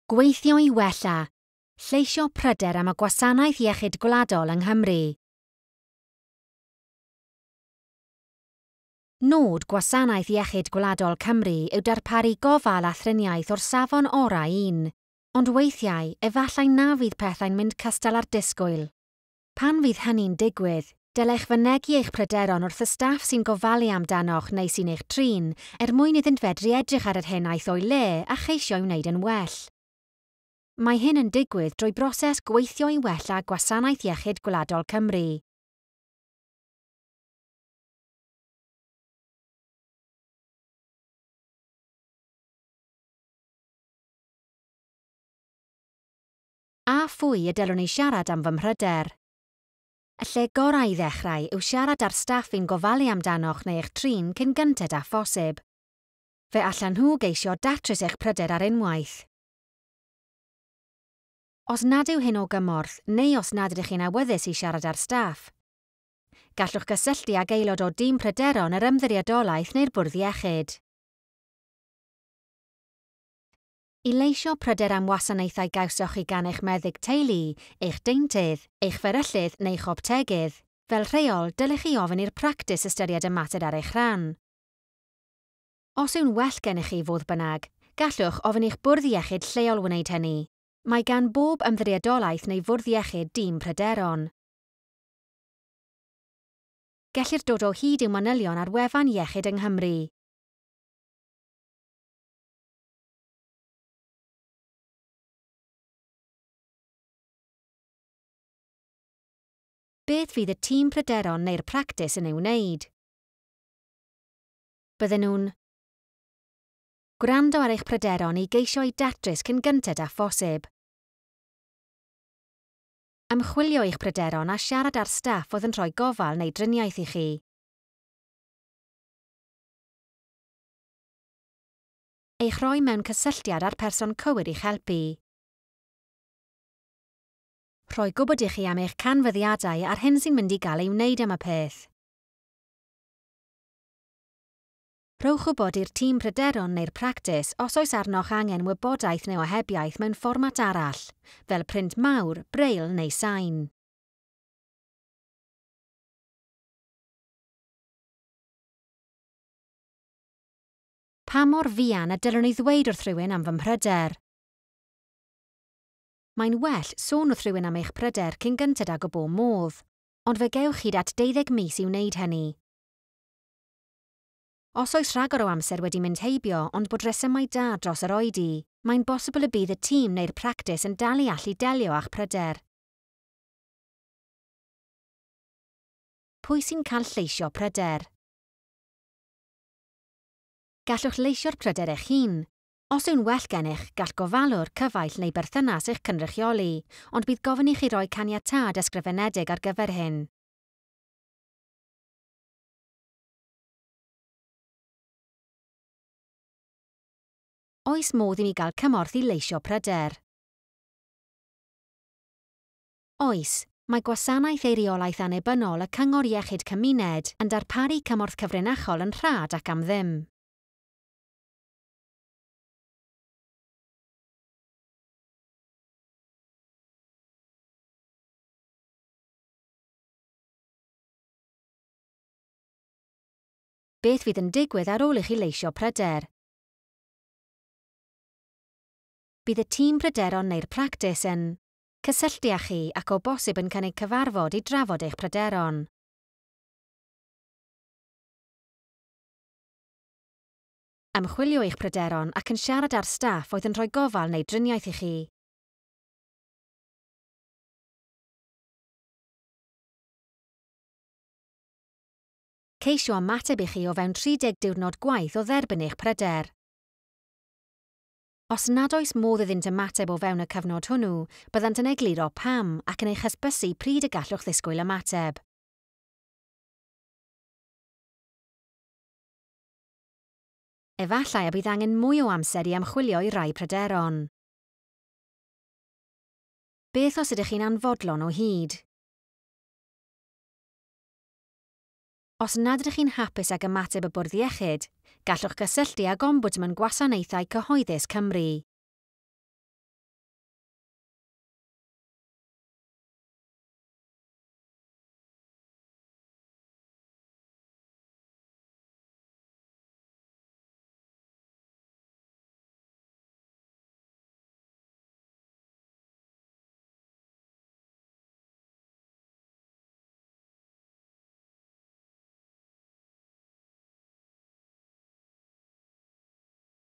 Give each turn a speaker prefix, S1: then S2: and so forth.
S1: Gweithio i wella, lleisio pryder am y Gwasanaeth Iechyd Gwladol yng Nghymru. Nod Gwasanaeth Iechyd Gwladol Cymru yw darparu gofal a thriniaeth o'r safon orau un, ond weithiau, efallai na fydd pethau'n mynd cystal â'r disgwyl. Pan fydd hynny'n digwydd, dylech fynegi eich pryderon wrth y staff sy'n gofalu amdanoch neu sy'n eich trin, er mwyn iddynt fedru edrych ar yr hyn aeth o'i le a cheisio'i wneud yn well. Mae hyn yn digwydd drwy broses Gweithio i Wella Gwasanaeth Iechyd Gwladol Cymru. A phwy y dylwn i siarad am fy mhryder? Y lle gorau i ddechrau yw siarad â'r staff fi'n gofalu amdanoch neu eich trin cyn gynted â phosib. Fe allan nhw geisio datrys eich pryder ar unwaith. Os nad yw hyn o gymorth neu os nad ydych chi'n awyddus i siarad â'r staff, gallwch gysylltu ag aelod o dîm pryderon yr Ymddiriedolaeth neu'r Bwrdd Iechyd. I leisio pryder am wasanaethau gawsoch chi gan eich meddyg teulu, eich deintydd, eich fferyllydd neu'ch optegydd, fel rheol, dylech chi ofyn i'r practis ystyried y mater ar eich rhan. Os yw'n well gennych chi, fodd bynnag, gallwch ofyn i'ch bwrdd iechyd lleol wneud hynny. Mae gan bob ymddiriedolaeth neu fwrdd iechyd dîm pryderon. Gellir dod o hyd i'w manylion ar wefan Iechyd yng Nghymru. Beth fydd y tîm pryderon neu'r practis yn ei wneud? Bydden nhw'n gwrando ar eich pryderon i geisio eu datrys cyn gynted â phosib. Ymchwilio i'ch pryderon a siarad â'r staff oedd yn rhoi gofal neu driniaeth i chi. Eich rhoi mewn cysylltiad â'r person cywir i'ch helpu. Rhoi gwybod i chi am eich canfyddiadau a'r hyn sy'n mynd i gael ei wneud am y peth. Rhowch wybod i'r tîm pryderon neu'r practis os oes arnoch angen wybodaeth neu ohebiaeth mewn fformat arall, fel print mawr, braille neu sain. Pa mor fuan y dylwn i ddweud wrth rhywun am fy mhryder? Mae'n well sôn wrth rhywun am eich pryder cyn gynted ag y bo modd, ond fe gewch hyd at 12 mis i wneud hynny. Os oes rhagor o amser wedi mynd heibio ond bod rhesymau da dros yr oedi, mae'n bosibl y bydd y tîm neu'r practis yn dal i allu delio â'ch pryder. Pwy sy'n cael lleisio pryder? Gallwch leisio'r pryder eich hun. Os yw'n well gennych, gall gofalwr, cyfaill neu berthynas eich cynrychioli, ond bydd gofyn i chi roi caniatâd ysgrifenedig ar gyfer hyn. Oes modd i mi gael cymorth i leisio pryder? Oes, mae Gwasanaeth Eiriolaeth Annibynnol y Cyngor Iechyd Cymuned yn darparu cymorth cyfrinachol yn rhad ac am ddim. Beth fydd yn digwydd ar ôl i chi leisio pryder? Bydd y tîm pryderon neu'r practis yn cysylltu â chi ac o bosib yn cynnig cyfarfod i drafod eich pryderon. Ymchwilio i'ch pryderon ac yn siarad â'r staff oedd yn rhoi gofal neu driniaeth i chi. Ceisio ymateb i chi o fewn 30 diwrnod gwaith o dderbyn eich pryder. Os nad oes modd iddynt ymateb o fewn y cyfnod hwnnw, byddant yn egluro pam ac yn eich hysbysu pryd y gallwch ddisgwyl ymateb. Efallai y bydd angen mwy o amser i ymchwilio i rai pryderon. Beth os ydych chi'n anfodlon o hyd? Os nad ydych chi'n hapus ag ymateb y Bwrdd Iechyd, gallwch gysylltu ag Ombudsman Gwasanaethau Cyhoeddus Cymru.